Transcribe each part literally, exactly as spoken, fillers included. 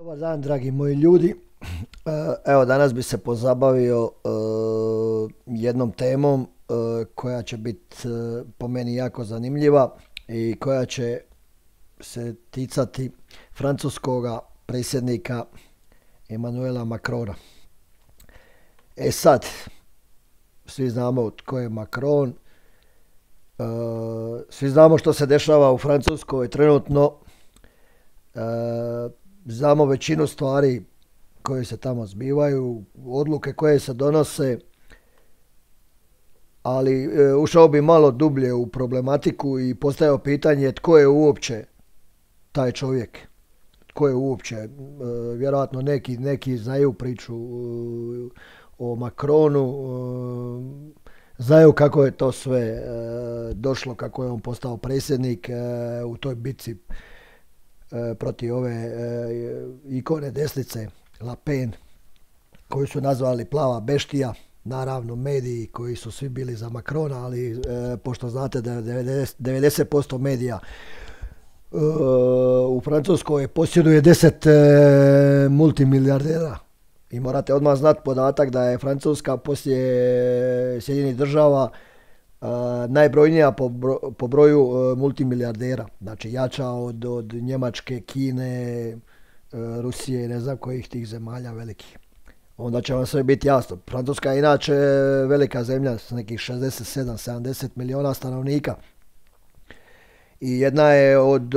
Dobar dan, dragi moji ljudi. Evo, danas bi se pozabavio e, jednom temom e, koja će biti e, po meni jako zanimljiva i koja će se ticati francuskoga predsjednika Emmanuela Macrona. E sad, svi znamo tko je Macron, e, svi znamo što se dešava u Francuskoj trenutno, e, znamo većinu stvari koje se tamo zbivaju, odluke koje se donose, ali e, ušao bi malo dublje u problematiku i postavio pitanje tko je uopće taj čovjek, tko je uopće, e, vjerojatno neki, neki znaju priču e, o Macronu, e, znaju kako je to sve e, došlo, kako je on postao predsjednik e, u toj bitci e, protiv ove e, ikone desnice Le Pen, koju su nazvali plava beštija, naravno mediji koji su svi bili za Macrona, ali e, pošto znate da devedeset posto medija e, u Francuskoj posjeduje deset e, multimilijardera. I morate odmah znati podatak da je Francuska poslije Sjedinjenih država e, najbrojnija po, bro, po broju e, multimilijardera. Znači jača od, od Njemačke, Kine, Rusije i ne znam kojih tih zemalja velikih. Onda će vam sve biti jasno. Francuska je inače velika zemlja s nekih šezdeset sedam sedamdeset milijuna stanovnika. I jedna je od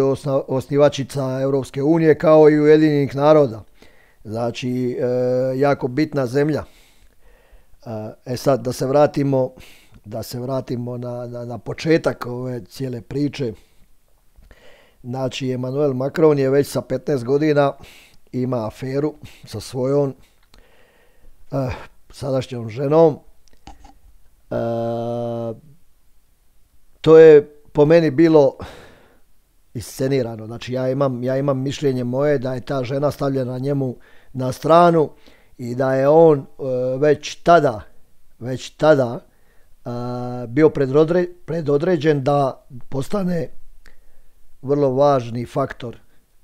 osnivačica Europske unije kao i Ujedinjenih naroda. Znači, e, jako bitna zemlja. E sad, da se vratimo, da se vratimo na, na, na početak ove cijele priče. Znači, Emmanuel Macron je već sa petnaest godina ima aferu sa svojom eh, sadašnjom ženom. Eh, to je po meni bilo iscenirano. Znači, ja imam, ja imam mišljenje moje da je ta žena stavljena njemu na stranu i da je on eh, već tada, već tada eh, bio predodre, predodređen da postane vrlo važni faktor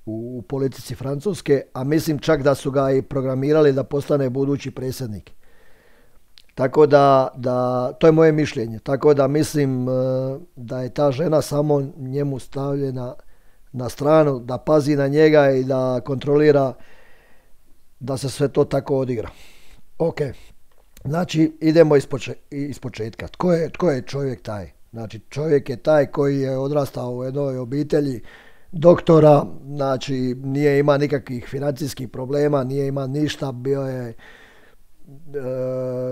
u, u politici Francuske, a mislim čak da su ga i programirali da postane budući predsjednik. Tako da, da to je moje mišljenje. Tako da mislim da je ta žena samo njemu stavljena na stranu, da pazi na njega i da kontrolira da se sve to tako odigra. Ok, znači idemo ispoče, ispočetka. Tko je, tko je čovjek taj? Znači čovjek je taj koji je odrastao u jednoj obitelji doktora, znači nije ima nikakvih financijskih problema, nije ima ništa, bio je e,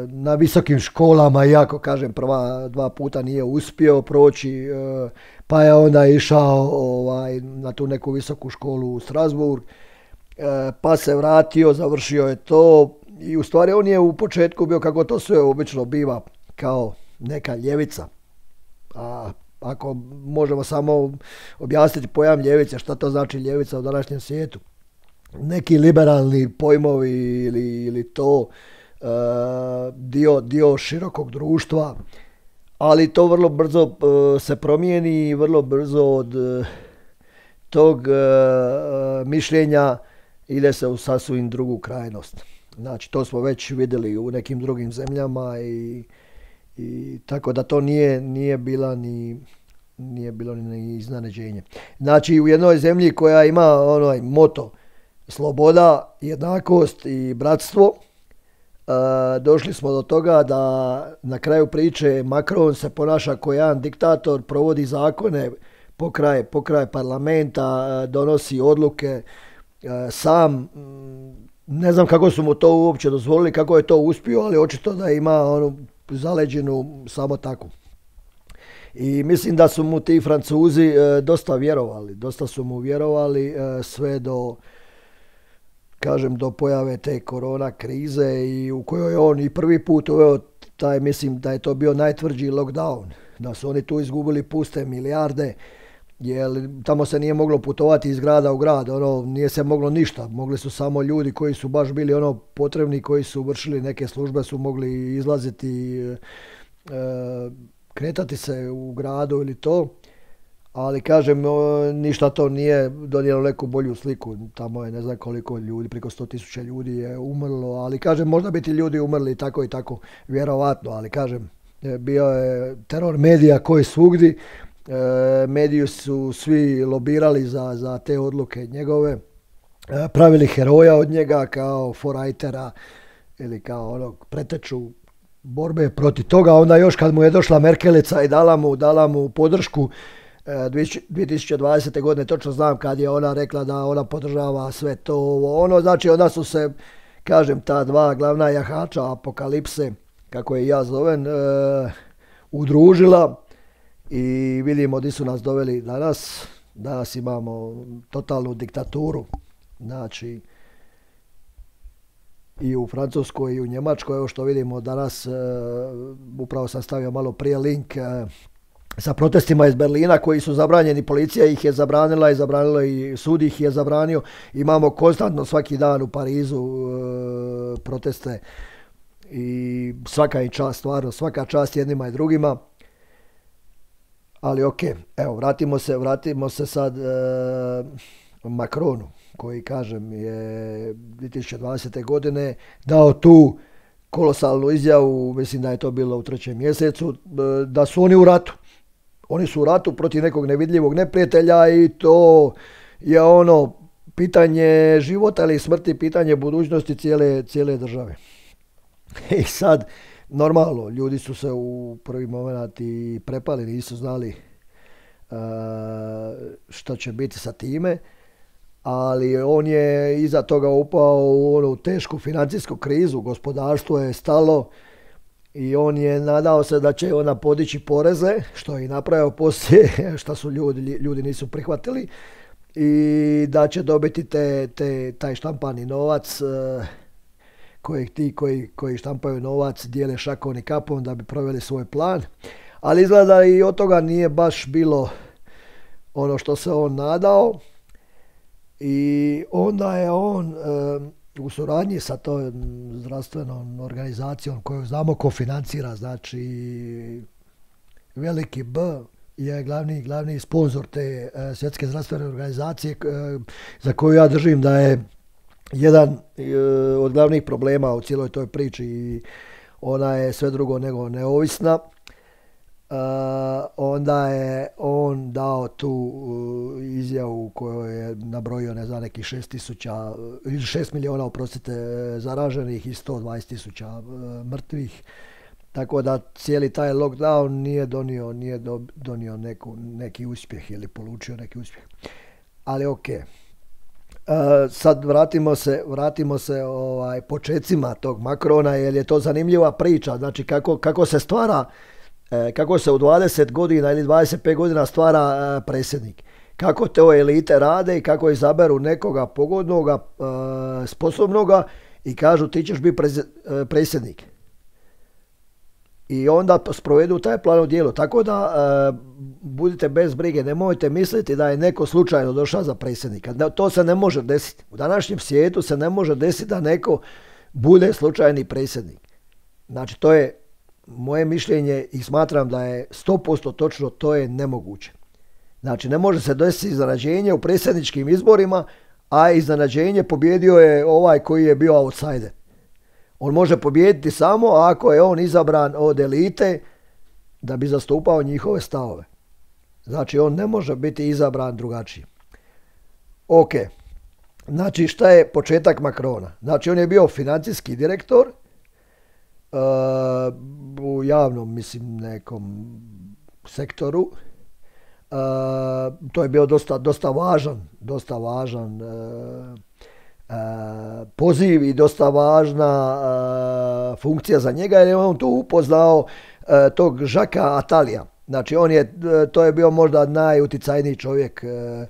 na visokim školama, iako kažem prva dva puta nije uspio proći, e, pa je onda išao ovaj, na tu neku visoku školu u Strasbourg, e, pa se vratio, završio je to i u stvari on je u početku bio, kako to sve obično biva, kao neka ljevica. A ako možemo samo objasniti pojam ljevice, šta to znači ljevica u današnjem svijetu. Neki liberalni pojmovi ili, ili to e, dio, dio širokog društva, ali to vrlo brzo e, se promijeni i vrlo brzo od e, tog e, mišljenja ide se u sasvim drugu krajnost. Znači to smo već vidjeli u nekim drugim zemljama i I tako da to nije, nije, bila ni, nije bilo ni iznenađenje. Znači u jednoj zemlji koja ima onaj moto sloboda, jednakost i bratstvo, e, došli smo do toga da na kraju priče Macron se ponaša kao jedan diktator, provodi zakone pokraj, pokraj parlamenta, donosi odluke e, sam. Ne znam kako su mu to uopće dozvolili, kako je to uspio, ali očito da ima ono zaleđenu samo tako. I mislim da su mu ti Francuzi e, dosta vjerovali, dosta su mu vjerovali e, sve do, kažem, do pojave te korona krize i u kojoj on i prvi put uveo taj, mislim da je to bio najtvrđi lockdown, da su oni tu izgubili puste milijarde, jer tamo se nije moglo putovati iz grada u grad, ono, nije se moglo ništa, mogli su samo ljudi koji su baš bili ono potrebni, koji su vršili neke službe, su mogli izlaziti, e, kretati se u gradu ili to, ali kažem, ništa to nije donijelo neku bolju sliku. Tamo je ne znam koliko ljudi, preko sto tisuća ljudi je umrlo, ali kažem, možda bi ti ljudi umrli tako i tako, vjerovatno, ali kažem, bio je teror medija koji svugdje, mediji su svi lobirali za, za te odluke njegove, pravili heroja od njega kao forajtera ili kao onog preteču borbe protiv toga. Onda još kad mu je došla Merkelica i dala mu, dala mu podršku dvije tisuće dvadesete. godine, točno znam kad je ona rekla da ona podržava sve to ovo ono, znači onda su se, kažem, ta dva glavna jahača apokalipse, kako je ja zovem, e, udružila i vidimo gdje su nas doveli danas. Danas imamo totalnu diktaturu, znači i u Francuskoj i u Njemačkoj. Evo što vidimo danas, e, upravo sam stavio malo prije link e, sa protestima iz Berlina koji su zabranjeni, policija ih je zabranila i zabranila i sud ih je zabranio. Imamo konstantno svaki dan u Parizu e, proteste i svaka im čast, stvarno svaka čast jednima i drugima. Ali ok, evo vratimo se, vratimo se sad e, Macronu koji, kažem, je dvije tisuće dvadesete. godine dao tu kolosalnu izjavu, mislim da je to bilo u trećem mjesecu, e, da su oni u ratu. Oni su u ratu protiv nekog nevidljivog neprijatelja i to je ono pitanje života ili smrti, pitanje budućnosti cijele, cijele države. I sad, normalno, ljudi su se u prvi moment i prepali, nisu znali uh, što će biti sa time, ali on je iza toga upao u onu tešku financijsku krizu, gospodarstvo je stalo i on je nadao se da će ona podići poreze, što je i napravio poslije, što su ljudi, ljudi nisu prihvatili, i da će dobiti te, te, taj štampani novac, uh, kojeg ti koji, koji štampaju novac dijele šakom i kapom da bi proveli svoj plan. Ali izgleda i od toga nije baš bilo ono što se on nadao i onda je on e, u suradnji sa tom zdravstvenom organizacijom koju znamo ko financira, znači veliki B je glavni, glavni sponzor te e, svjetske zdravstvene organizacije, e, za koju ja držim da je jedan e, od glavnih problema u cijeloj toj priči i ona je sve drugo nego neovisna. Uh, onda je on dao tu uh, izjavu u kojoj je nabrojio, ne znam, nekih šest tisuća ili šest milijuna, oprostite, zaraženih i sto dvadeset tisuća uh, mrtvih. Tako da cijeli taj lockdown nije donio, nije do, donio neku, neki uspjeh ili polučio neki uspjeh. Ali ok. Uh, sad vratimo se, vratimo se ovaj, počecima tog Macrona, jer je to zanimljiva priča. Znači kako, kako se stvara, eh, kako se u dvadeset godina ili dvadeset pet godina stvara eh, predsjednik. Kako te elite rade i kako izaberu nekoga pogodnoga, eh, sposobnoga i kažu ti ćeš biti prez, eh, predsjednik. I onda sprovedu taj plan u djelo. Tako da e, budite bez brige, nemojte misliti da je neko slučajno došao za predsjednika. To se ne može desiti. U današnjem svijetu se ne može desiti da neko bude slučajni predsjednik. Znači to je moje mišljenje i smatram da je sto posto točno, to je nemoguće. Znači ne može se desiti iznenađenje u predsjedničkim izborima, a iznenađenje pobjedio je ovaj koji je bio outsider. On može pobijediti samo ako je on izabran od elite da bi zastupao njihove stavove. Znači on ne može biti izabran drugačiji. Ok, znači šta je početak Macrona? Znači on je bio financijski direktor uh, u javnom, mislim, nekom sektoru. Uh, to je bio dosta, dosta važan, dosta važan uh, Uh, poziv i dosta važna uh, funkcija za njega, jer je on tu upoznao uh, tog Žaka Atalija. Znači on je, to je bio možda najuticajniji čovjek uh,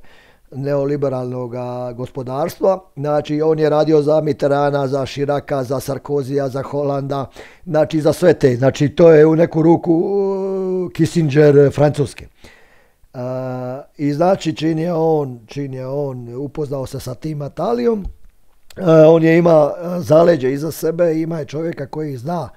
neoliberalnog gospodarstva. Znači on je radio za Mitterranda, za Chiraca, za Sarkozija, za Holanda, znači za sve te. Znači to je u neku ruku uh, Kissinger Francuske. Uh, I znači čim je on, čim je on upoznao se sa tim Atalijom, Uh, on je ima zaleđe iza sebe, ima je čovjeka koji zna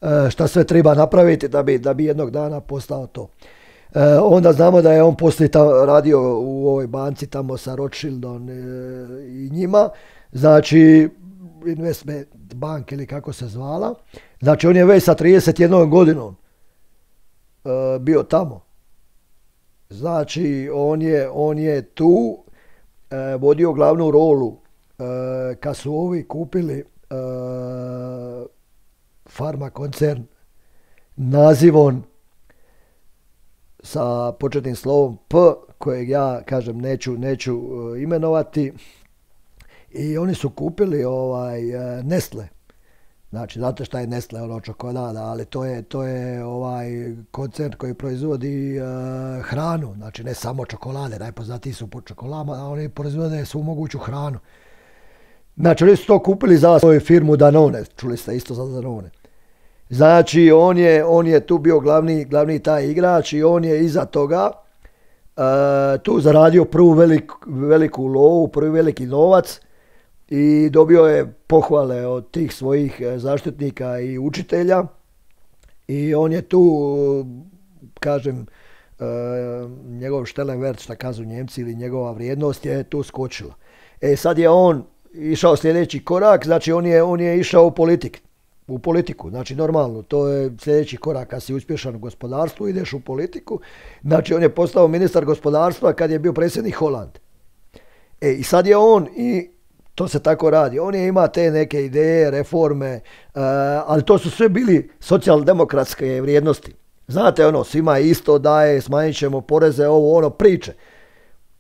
uh, šta sve treba napraviti da bi, da bi jednog dana postao to. Uh, onda znamo da je on poslije tamo radio u ovoj banci tamo sa Rothschildom e, i njima, znači Investment Bank ili kako se zvala, znači on je već sa trideset jednom godinom e, bio tamo. Znači on je, on je tu e, vodio glavnu rolu e, kad su ovi kupili e, farma koncern nazivom sa početnim slovom P, kojeg ja, kažem, neću, neću uh, imenovati. I oni su kupili ovaj uh, Nestle. Znači, znate šta je Nestle, ono čokolada, ali to je, to je ovaj koncern koji proizvodi uh, hranu. Znači, ne samo čokolade, najpoznatiji su po čokoladama, a oni proizvode svu moguću hranu. Znači, oni su to kupili za svoju firmu Danone, čuli ste isto za Danone. Znači, on je, on je tu bio glavni, glavni taj igrač i on je iza toga uh, tu zaradio prvu velik, veliku lovu, prvi veliki novac i dobio je pohvale od tih svojih zaštitnika i učitelja i on je tu, kažem, uh, njegov Stellenwert, šta kažu Njemci, ili njegova vrijednost je tu skočila. E sad je on išao sljedeći korak, znači on je, on je išao u politiku. U politiku, znači normalno, to je sljedeći korak, kad si uspješan u gospodarstvu, ideš u politiku. Znači on je postao ministar gospodarstva kad je bio predsjednik Holande. E i sad je on, i to se tako radi, on je ima te neke ideje, reforme, uh, ali to su sve bili socijaldemokratske vrijednosti. Znate ono, svima isto daje, smanjit ćemo poreze, ovo ono, priče.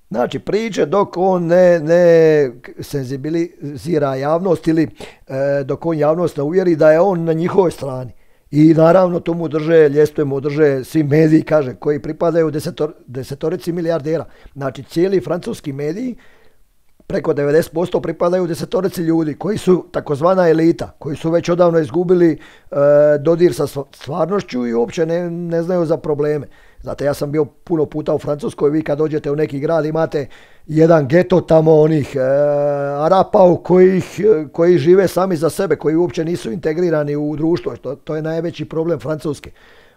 Znači priče dok on ne, ne senzibilizira javnost ili e, dok on javnost ne uvjeri da je on na njihovoj strani. I naravno to mu drže, ljestve mu drže svi mediji, kaže, koji pripadaju desetor, desetorici milijardera. Znači cijeli francuski mediji, preko devedeset posto pripadaju desetorici ljudi koji su takozvana elita, koji su već odavno izgubili e, dodir sa stvarnošću i uopće ne, ne znaju za probleme. Znate, ja sam bio puno puta u Francuskoj, vi kad dođete u neki grad imate jedan geto tamo onih e, Arapa u kojih, koji žive sami za sebe, koji uopće nisu integrirani u društvo. To, to je najveći problem Francuske.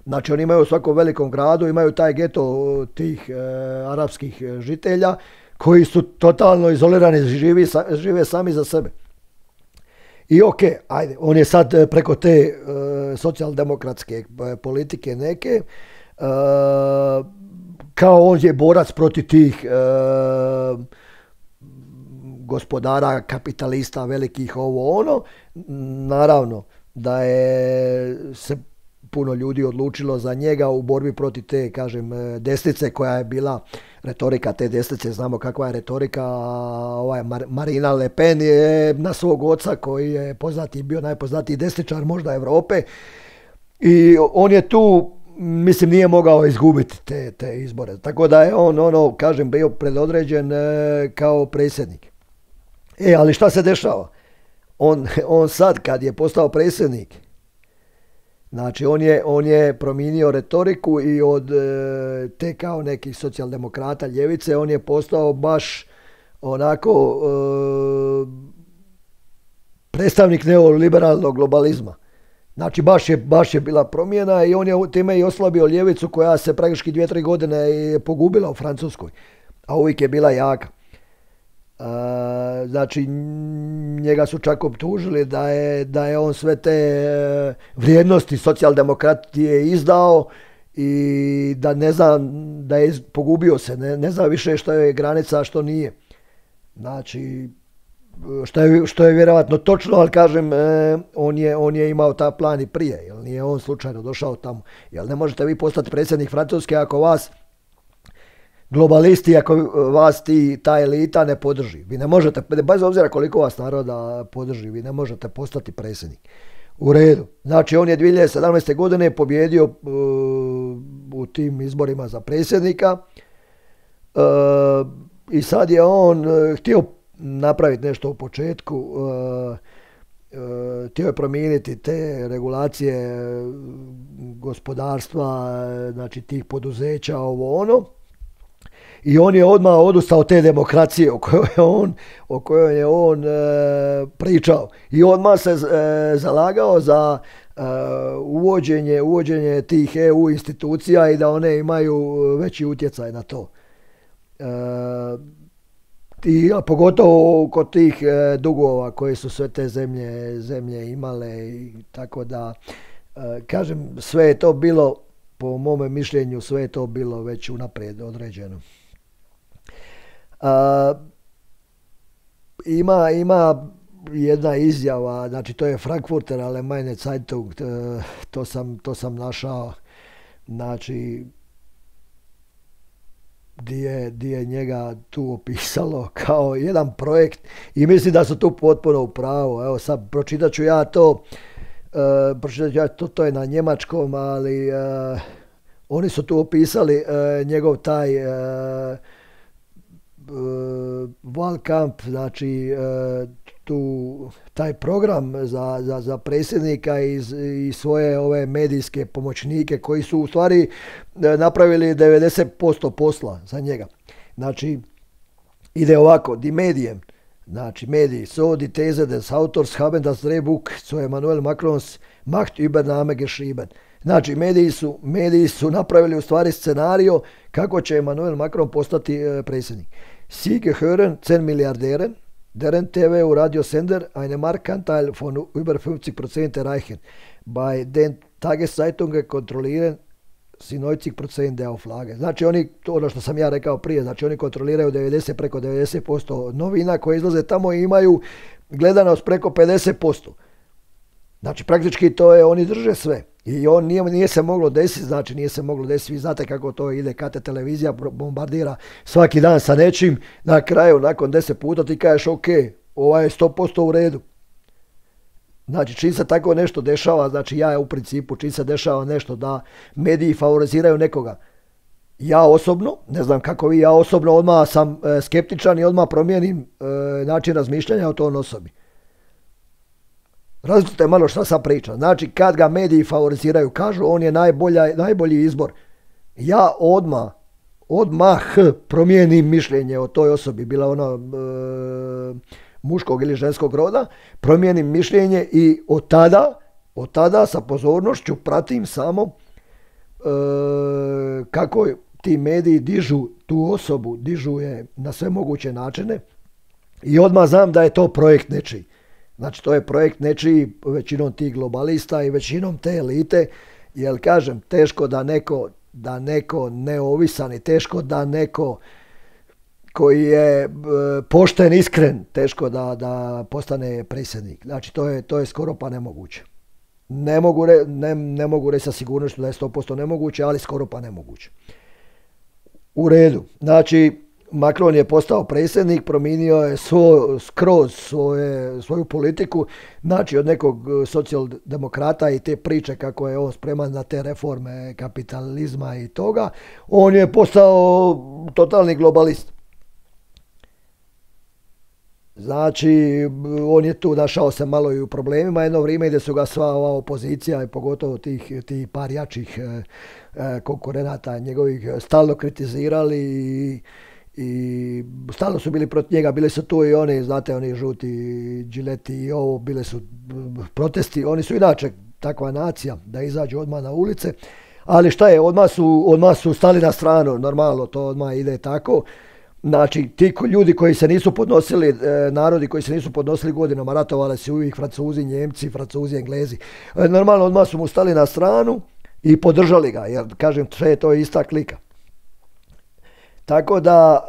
Znači oni imaju u svakom velikom gradu, imaju taj geto tih e, arapskih žitelja koji su totalno izolirani, živi, žive sami za sebe. I ok, ajde, on je sad preko te e, socijaldemokratske politike neke, Uh, kao on je borac protiv tih uh, gospodara, kapitalista, velikih, ovo ono. Naravno da je se puno ljudi odlučilo za njega u borbi protiv te, kažem, desnice koja je bila retorika te desnice. Znamo kakva je retorika. Ovaj Mar- Marina Le Pen je na svog oca koji je poznati, bio najpoznatiji desničar možda Europe i on je tu, mislim, nije mogao izgubiti te, te izbore. Tako da je on, ono, kažem, bio predodređen e, kao predsjednik. E, ali šta se dešava? On, on sad, kad je postao predsjednik, znači, on je, on je promijenio retoriku i od e, te kao nekih socijaldemokrata ljevice, on je postao baš onako e, predstavnik neoliberalnog globalizma. Znači baš je, baš je bila promjena i on je time i oslabio ljevicu koja se praktički dvije, tri godine je pogubila u Francuskoj, a uvijek je bila jaka. A, znači njega su čak optužili da je, da je on sve te vrijednosti socijaldemokratije izdao i da ne zna, da je pogubio se, ne, ne zna više što je granica, a što nije. Znači, Što je, što je vjerojatno točno, ali kažem, eh, on, je, on je imao ta plan i prije, jer nije on slučajno došao tamo. Jer ne možete vi postati predsjednik Francuske ako vas globalisti, ako vas ti, ta elita ne podrži. Vi ne možete, bez obzira koliko vas naroda podrži, vi ne možete postati predsjednik. U redu. Znači on je dvije hiljade sedamnaeste. godine pobjedio uh, u tim izborima za predsjednika uh, i sad je on uh, htio napraviti nešto u početku, uh, uh, htio je promijeniti te regulacije gospodarstva, znači tih poduzeća, ovo ono. I on je odmah odustao od te demokracije o kojoj je on, o kojoj je on e, pričao. I odmah se e, zalagao za e, uvođenje, uvođenje tih E U institucija i da one imaju veći utjecaj na to. I, a pogotovo kod tih e, dugova koje su sve te zemlje, zemlje imale i tako da e, kažem, sve je to bilo, po mome mišljenju, sve je to bilo već unaprijed određeno. A, ima, ima jedna izjava, znači to je Frankfurter Allgemeine Zeitung, to sam, to sam našao, znači di je, di je njega tu opisalo kao jedan projekt i mislim da su tu potpuno u pravu. Evo sad pročitat ću ja to, uh, pročitat ću ja to, to je na njemačkom, ali uh, oni su tu opisali uh, njegov taj uh, uh, Wahlkampf, znači uh, tu, taj program za, za, za predsjednika i, i svoje ove medijske pomoćnike koji su u stvari napravili devedeset posto posla za njega. Znači, ide ovako, die Medien, znači mediji, so die These des Autors haben das Drehbuch zu Emmanuel Macrons Machtübernahme geschrieben. Znači, mediji su, mediji su napravili u stvari scenario kako će Emmanuel Macron postati e, predsjednik. Sie gehören zehn Milliardären, deren T V u Radiosender einen Marktanteil von über fünfzig Prozent erreichen. Bei den Tageszeitungen kontrollieren si neunzig Prozent der Auflage. Znači oni, to ono što sam ja rekao prije, znači oni kontroliraju devedeset, preko devedeset posto novina koje izlaze tamo i imaju gledanost preko pedeset posto. Znači praktički to je, oni drže sve. I on nije, nije se moglo desiti, znači nije se moglo desiti, vi znate kako to ide, kad te televizija bombardira svaki dan sa nečim, na kraju nakon deset puta ti kažeš ok, ovaj je sto posto u redu. Znači čim se tako nešto dešava, znači ja u principu čim se dešava nešto da mediji favoriziraju nekoga, ja osobno, ne znam kako vi, ja osobno odmah sam e, skeptičan i odmah promijenim e, način razmišljanja o toj osobi. Različite malo šta sam pričam. Znači, kad ga mediji favoriziraju, kažu on je najbolja, najbolji izbor. Ja odmah, odmah promijenim mišljenje o toj osobi, bila ona e, muškog ili ženskog roda, promijenim mišljenje i od tada, od tada sa pozornošću pratim samo e, kako ti mediji dižu tu osobu, dižu je na sve moguće načine i odmah znam da je to projekt nečiji. Znači to je projekt nečiji, većinom tih globalista i većinom te elite, jer kažem, teško da neko, da neko neovisan i teško da neko koji je e, pošten, iskren, teško da, da postane predsjednik. Znači to je, to je skoro pa nemoguće. Ne mogu, re, ne, ne mogu reći sa sigurnošću da je sto posto nemoguće, ali skoro pa nemoguće. U redu. Znači Macron je postao predsjednik, promijenio je svo, skroz svoje, svoju politiku, znači od nekog socijaldemokrata i te priče kako je on spreman na te reforme kapitalizma i toga, on je postao totalni globalist. Znači, on je tu našao se malo i u problemima jedno vrijeme gdje su ga sva ova opozicija i pogotovo tih, tih par jačih eh, konkurenata njegovih stalno kritizirali i i stalno su bili protiv njega, bili su tu i oni, znate, oni žuti džileti i ovo, bile su protesti, oni su inače takva nacija da izađu odmah na ulice, ali šta je, odmah su, odmah su stali na stranu, normalno, to odmah ide tako. Znači, ti ljudi koji se nisu podnosili, e, narodi koji se nisu podnosili godinama, ratovali su uvijek Francuzi, Njemci, Francuzi, Englezi, e, normalno odmah su mu stali na stranu i podržali ga, jer kažem, sve to je ista klika. Tako da,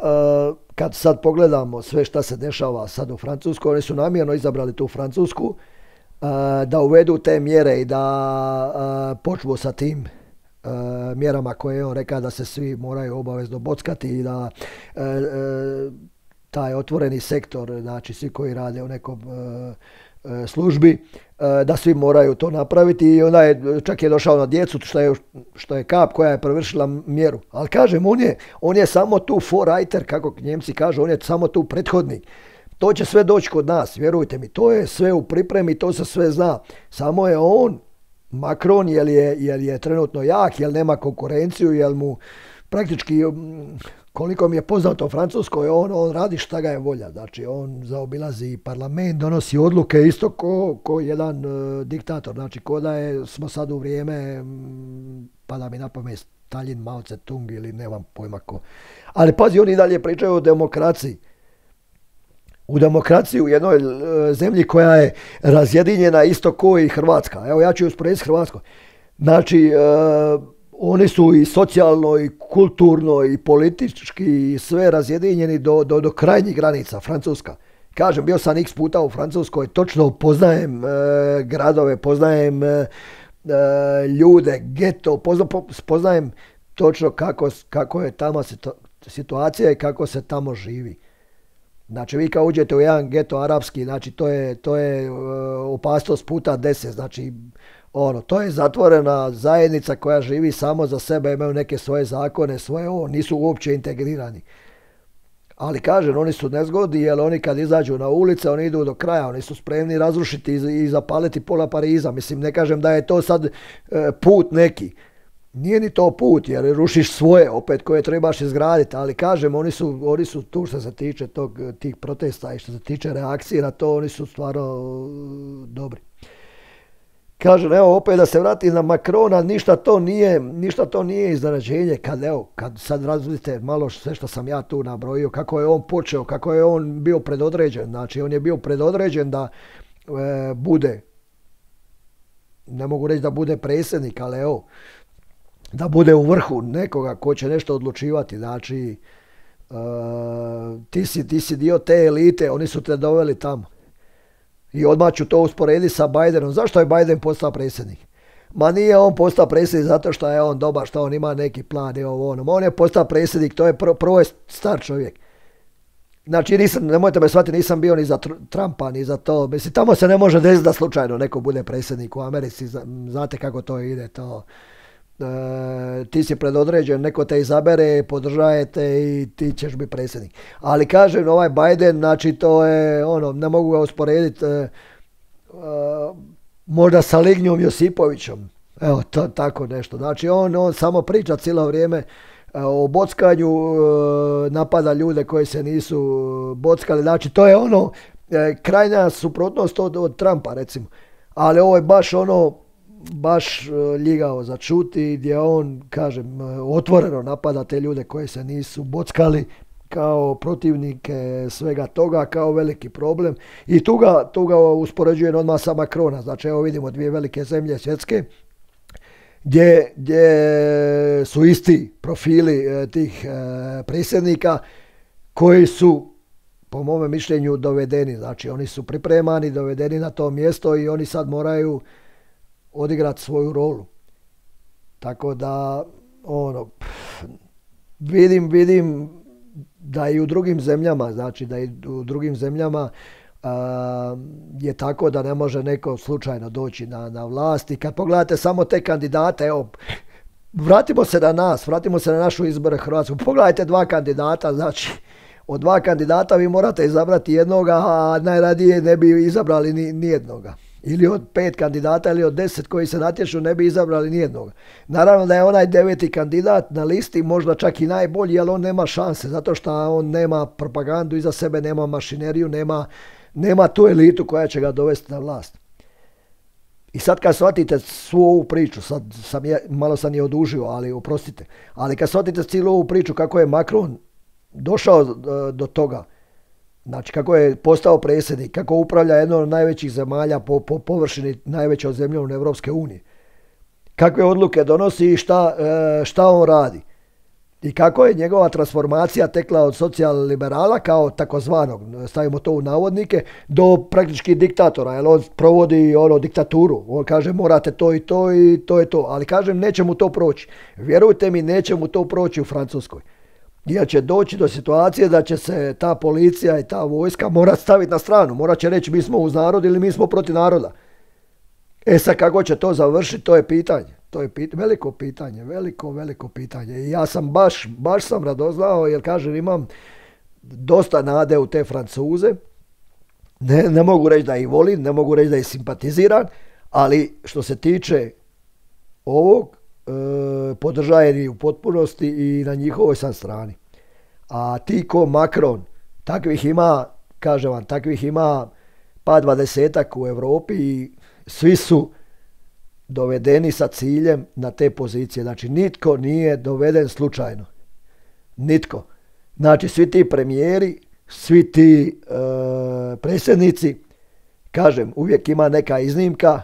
kad sad pogledamo sve šta se dešava sad u Francuskoj, oni su namjerno izabrali tu Francusku, da uvedu te mjere i da počnu sa tim mjerama koje je on rekao da se svi moraju obavezno bockati i da taj otvoreni sektor, znači svi koji rade u nekom službi, da svi moraju to napraviti i onda je čak je došao na djecu što je, što je kap koja je prevršila mjeru. Ali kažem, on je, on je samo tu vorreiter, kako Njemci kažu, on je samo tu prethodnik. To će sve doći kod nas, vjerujte mi, to je sve u pripremi, to se sve zna. Samo je on, Macron, jel je, jel je trenutno jak, jel nema konkurenciju, jel mu praktički koliko mi je poznato u Francuskoj, on, on radi šta ga je volja. Znači, on zaobilazi parlament, donosi odluke isto ko, ko jedan uh, diktator. Znači, ko da je, smo sad u vrijeme, m, pada mi na pamet Stalin, Mao Tse-tung ili nemam pojma ko. Ali pazi, oni dalje pričaju o demokraciji. U demokraciji u jednoj uh, zemlji koja je razjedinjena isto ko i Hrvatska. Evo, ja ću usporediti s Hrvatskom. Znači, uh, oni su i socijalno, i kulturno, i politički, i sve razjedinjeni do, do, do krajnjih granica. Francuska. Kažem, bio sam x puta u Francuskoj, točno poznajem e, gradove, poznajem e, ljude, geto, pozna, poznajem točno kako, kako je tamo situacija i kako se tamo živi. Znači, vi kao uđete u jedan geto arapski, znači to je, to je e, opasnost puta deset, znači ono, to je zatvorena zajednica koja živi samo za sebe, imaju neke svoje zakone, svoje ovo, nisu uopće integrirani. Ali kažem, oni su nezgodni jer oni kad izađu na ulice, oni idu do kraja, oni su spremni razrušiti i zapaliti pola Pariza. Mislim, ne kažem da je to sad e, put neki. Nije ni to put jer rušiš svoje opet koje trebaš izgraditi, ali kažem, oni su, oni su tu što se tiče tog, tih protesta i što se tiče reakcije na to, oni su stvarno dobri. Kažem, evo, opet da se vrati na Macrona, ništa to nije, ništa to nije iznenađenje, kad, evo, kad sad razvidite malo sve što sam ja tu nabrojio, kako je on počeo, kako je on bio predodređen, znači on je bio predodređen da e, bude, ne mogu reći da bude predsjednik, ali evo, da bude u vrhu nekoga ko će nešto odlučivati, znači e, ti, si, ti si dio te elite, oni su te doveli tamo. I odmah ću to usporediti sa Bidenom. Zašto je Biden postao predsjednik? Ma nije on postao predsjednik zato što je on dobar, što on ima neki plan i ovo ono. On je postao predsjednik, to je prvo, prvo je star čovjek. Znači, nisam, nemojte me shvatiti, nisam bio ni za Trumpa, ni za to. Mislim, tamo se ne može desiti da slučajno neko bude predsjednik u Americi. Znate kako to ide, to... E, ti si predodređen, neko te izabere, podržajete i ti ćeš biti predsjednik. Ali kažem, ovaj Biden, znači to je, ono, ne mogu ga usporediti e, e, možda sa Lignjom Josipovićem. Evo, to tako nešto. Znači, on, on samo priča cijelo vrijeme e, o bockanju, e, napada ljude koji se nisu bockali. Znači, to je ono, e, krajnja suprotnost od, od Trumpa, recimo. Ali ovo je baš ono, baš ljigao za čuti, gdje on, kažem, otvoreno napada te ljude koji se nisu bockali kao protivnike svega toga, kao veliki problem. I tu ga, tu ga uspoređujem odmah sa Macrona. Znači, evo vidimo dvije velike zemlje svjetske, gdje, gdje su isti profili tih predsjednika koji su, po mome mišljenju, dovedeni. Znači, oni su pripremani, dovedeni na to mjesto i oni sad moraju odigrati svoju rolu. Tako da, ono, vidim, vidim da i u drugim zemljama, znači da i u drugim zemljama a, je tako da ne može neko slučajno doći na, na vlast. I kad pogledate samo te kandidate, evo, vratimo se na nas, vratimo se na našu izbore Hrvatsku. Pogledajte dva kandidata, znači, od dva kandidata vi morate izabrati jednoga, a najradije ne bi izabrali ni, ni jednoga. Ili od pet kandidata ili od deset koji se natječu ne bi izabrali nijednog. Naravno da je onaj deveti kandidat na listi možda čak i najbolji, ali on nema šanse, zato što on nema propagandu iza sebe, nema mašineriju, nema, nema tu elitu koja će ga dovesti na vlast. I sad kad shvatite svu ovu priču, sad sam je, malo sam je odužio, ali oprostite, ali kad shvatite cijelu ovu priču kako je Macron došao do, do toga, znači kako je postao predsjednik, kako upravlja jednom od najvećih zemalja po, po površini najvećom zemljom Evropske unije. Kakve odluke donosi i šta, šta on radi. I kako je njegova transformacija tekla od socijal-liberala kao takozvanog, stavimo to u navodnike, do praktički diktatora. Jer on provodi ono, diktaturu. On kaže morate to i to i to je to. Ali kažem neće mu to proći. Vjerujte mi, neće mu to proći u Francuskoj. Jer će doći do situacije da će se ta policija i ta vojska morat staviti na stranu. Morat će reći mi smo uz narod ili mi smo protiv naroda. E sad kako će to završiti, to je pitanje. To je pit- veliko pitanje, veliko, veliko pitanje. I ja sam baš, baš sam radoznao jer kažem imam dosta nade u te Francuze. Ne, ne mogu reći da ih volim, ne mogu reći da ih simpatiziram, ali što se tiče ovog, E, podržajeni u potpunosti i na njihovoj sam strani. A ti ko Macron, takvih ima, kažem vam, takvih ima pa dvadesetak u Europi i svi su dovedeni sa ciljem na te pozicije. Znači, nitko nije doveden slučajno. Nitko. Znači, svi ti premijeri, svi ti e, predsjednici, kažem, uvijek ima neka iznimka,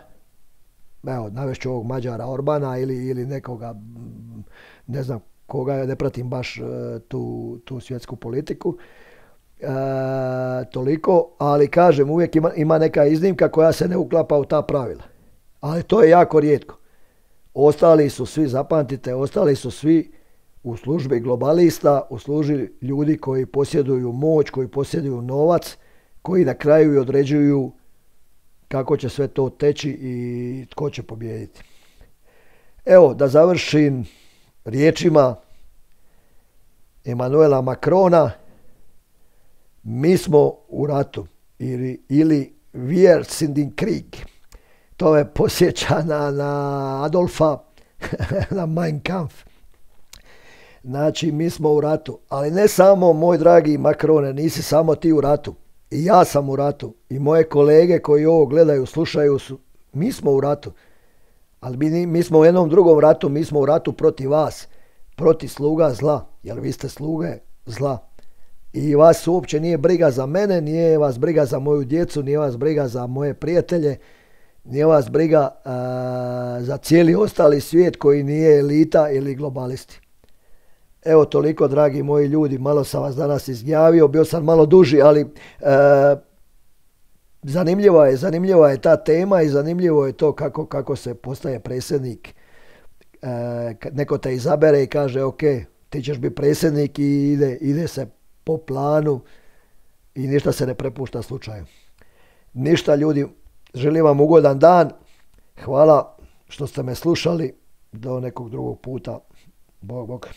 evo, navešću ovog Mađara Orbana ili, ili nekoga, ne znam koga, ne pratim baš e, tu, tu svjetsku politiku, e, toliko, ali kažem, uvijek ima, ima neka iznimka koja se ne uklapa u ta pravila. Ali to je jako rijetko. Ostali su svi, zapamtite, ostali su svi u službi globalista, u službi ljudi koji posjeduju moć, koji posjeduju novac, koji na kraju i određuju kako će sve to teći i tko će pobijediti. Evo, da završim riječima Emmanuela Macrona, mi smo u ratu ili, ili wir sind in Krieg. To me posjeća na, na Adolfa, na Mein Kampf. Znači, mi smo u ratu. Ali ne samo, moj dragi Macrone, nisi samo ti u ratu. I ja sam u ratu. I moje kolege koji ovo gledaju, slušaju, su, mi smo u ratu. Ali mi, mi smo u jednom drugom ratu, mi smo u ratu protiv vas. Protiv sluga zla. Jer vi ste sluge zla. I vas uopće nije briga za mene, nije vas briga za moju djecu, nije vas briga za moje prijatelje, nije vas briga uh, za cijeli ostali svijet koji nije elita ili globalisti. Evo toliko, dragi moji ljudi, malo sam vas danas izgnjavio, bio sam malo duži, ali uh, zanimljiva je, zanimljiva je ta tema i zanimljivo je to kako, kako se postaje predsjednik. Uh, neko te izabere i kaže, ok, ti ćeš biti predsjednik i ide, ide se po planu i ništa se ne prepušta slučaju. Ništa, ljudi, želim vam ugodan dan. Hvala što ste me slušali. Do nekog drugog puta. Bog, bog.